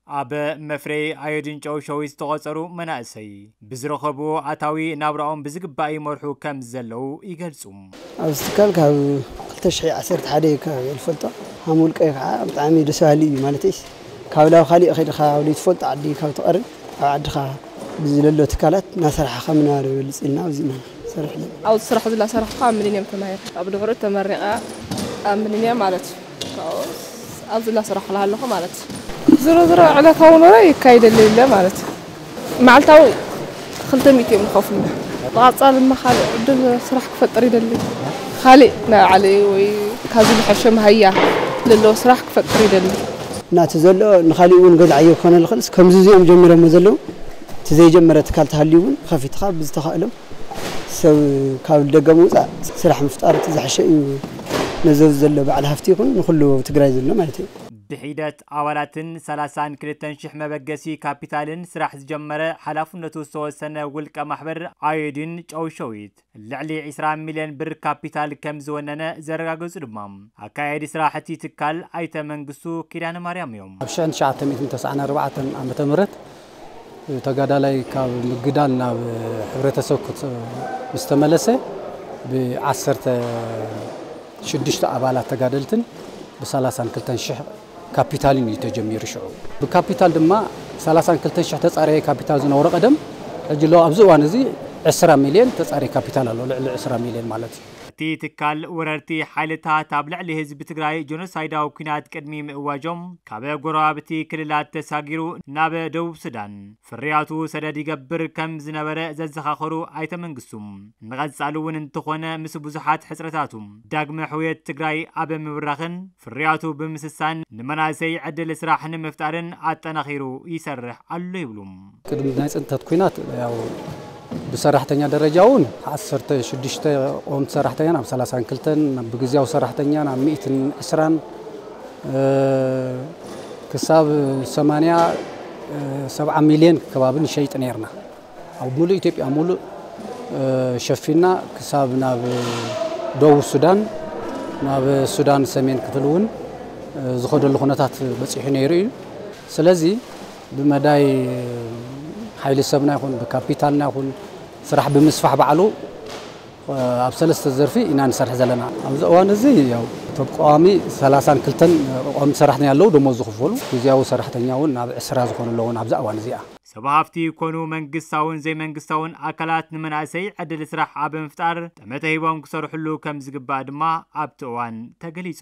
ኣብ መፍረይ ኣዮዲን ጨው ሸዊት ዝተቖጸሩ መናእሰይ ብዝረኸብዎ ኣታዊ ናብራኦም ብዝግባእ ይመርሑ ከም ዘለዉ ይገልጹ። ኣብዚ ትካል ካብ ክልተ ሽሕ ዓሰርተ ሓደ እዩ ከባቢ ዝፈልጦ። ሃም ውልቀይ ከዓ ብጣዕሚ ደስ በሃሊ እዩ። ማለተይስ ካብ ላብ ካሊእ ከይድካ ኣብ ዘይትፈልጦ ዓዲ ካብ ትቐርብ ኣብ ዓድኻ ብዝለሎ ትካላት እናሰራሕኻ ምንባር ይበልፅ ኢልና ኣብዚ ኢና ንሰርሕ ዘለና። ኣብዚ ስራሕ እዚ እናሰራሕኩ ኣብ ሚሊኒየም ተማሂረ። ኣብ ድሕሪኡ ተመሪቐ ኣብ ሚሊኒየም ማለት እዩ። ካብኡ ኣብዚ እናሰራሕኩ ኣለኹ ማለት እዩ። ዝሮ ዝሮ ዕለታዊ ኑሮ ይካይደለይ ኣሎ ማለት እዩ። መዓልታዊ ክልተ ሚእቲ እዮም ዝኸፍሉና። ብቐፃሊ ድማ ካልእ ዕድል ስራሕ ክፈጥር ይደሊ። ካልእ ናይ ባዕለይ ወይ ካብዚ ዝሐሸ መሃያ ዘለዎ ስራሕ ክፈጥር ይደሊ። እና እቲ ዘሎ ንኻሊእ እውን ገዝዓዮ ክኾነ ዝኽእል ከምዚ እዚኦም ጀሚሮሞ ዘለዉ እቲ ዘይጀመረ ትካል ተሃልዩ እውን ከፊትኻ ብዝተኻእሎም ሰብ ካብ ደገ ምውፃእ ስራሕ ምፍጣር እቲ ዝሐሸ እዩ። ነዚ ኣብዚ ዘሎ በዓል ሃፍቲ ይኹን ንኹሉ ኣብ ትግራይ ዘሎ ማለት እዩ። ብሒደት ኣባላትን ሰላሳን ክልተን ሽሕ መበገሲ ካፒታልን ስራሕ ዝጀመረ ሓላፍነቱ ዝተወሰነ ውልቀ ማሕበር ኣዮዲን ጨው ሸዊት ልዕሊ ዕስራ ሚልዮን ብር ካፒታል ከም ዝወነነ ዘረጋገጹ ድማ ኣካያዲ ስራሕ እቲ ትካል ኣይተ መንግስቱ ኪዳነ ማርያም እዮም። ኣብ ሽሕን ትሽዓተ ሚእትን ተስዓን ኣርባዕተን ዓመተ ምህረት ተጋዳላይ ካብ ምግዳል ናብ ሕብረተሰብ ክት- ምስ ተመለሰ ብዓሰርተ ሽዱሽተ ኣባላት ተጋደልትን ብሰላሳን ክልተን ሽሕ ካፒታልን እዩ ተጀሚሩ። ሽዑ ብካፒታል ድማ ሰላሳን ክልተን ሽሕ ተጻረየ ካፒታል ዝነበሮ ቀደም ሕጂ ኣሎ ኣብዚ እዋን እዚ ዕስራ ሚልዮን ተጻረየ ካፒታል ኣሎ፣ ልዕሊ ዕስራ ሚልዮን ማለት እዩ። እቲ ትካል ወረርቲ ሓይልታት ኣብ ልዕሊ ህዝቢ ትግራይ ጀኖሳይዳዊ ኲናት ቅድሚ ምእዋጆም ካብ ጎረባብቲ ክልላት ተሳጊሩ ናብ ደቡብ ሱዳን ፍርያቱ ሰደድ ይገብር ከም ዝነበረ ዘዘኻኸሩ ኣይተ መንግስቱ፣ ንቐጻሊ እውን እንተኾነ ምስ ብዙሓት ሕጽረታቱ ዳግመ ሕውየት ትግራይ ኣብ ምብራኽን ፍርያቱ ብምስሳን ንመናእሰይ ዕድል ስራሕ ንምፍጣርን ኣጠናኺሩ ይሰርሕ ኣሎ ይብሉ። ቅድሚ ናይ ጽንተት ኲናት ያው ብሰራሕተኛ ደረጃ እውን ዓሰርተ ሽዱሽተ ቀወምቲ ሰራሕተኛ ናብ ሰላሳን ክልተን ብግዝያዊ ሰራሕተኛ ናብ ሚእትን ዕስራን ክሳብ ሰማንያ ሰብዓ ሚልዮን ከባቢ ንሸይጥ ነርና። ኣብ ሙሉእ ኢትዮጵያ ሙሉእ ሸፊና ክሳብ ናብ ደቡብ ሱዳን ናብ ሱዳን ሰሜን ክፍል እውን ዝኸደሉ ኩነታት በፂሑ ነይሩ እዩ። ስለዚ ብመዳይ ሓይሊ ሰብና ይኹን ብካፒታልና ይኹን ስራሕ ብምስፋሕ ባዕሉ ኣብ ሰለስተ ዘርፊ ኢና ንሰርሕ ዘለና። ኣብዚ እዋን እዚ ያው እቶም ቀዋሚ ሰላሳን ክልተን ቀዋሚ ሰራሕተኛ ኣለዉ ደሞዝ ዝኽፈሉ፣ ግዝያዊ ሰራሕተኛ እውን ናብ ዕስራ ዝኾኑ ኣለዉ ኣብዚ እዋን እዚኣ። ሰብ ሃፍቲ ይኮኑ መንግስታውን ዘይመንግስታውን ኣካላት ንመናእሰይ ዕድል ስራሕ ኣብ ምፍጣር ጠመተ ሂቦም ክሰርሕሉ ከም ዝግባእ ድማ ኣብቲ እዋን ተገሊጹ።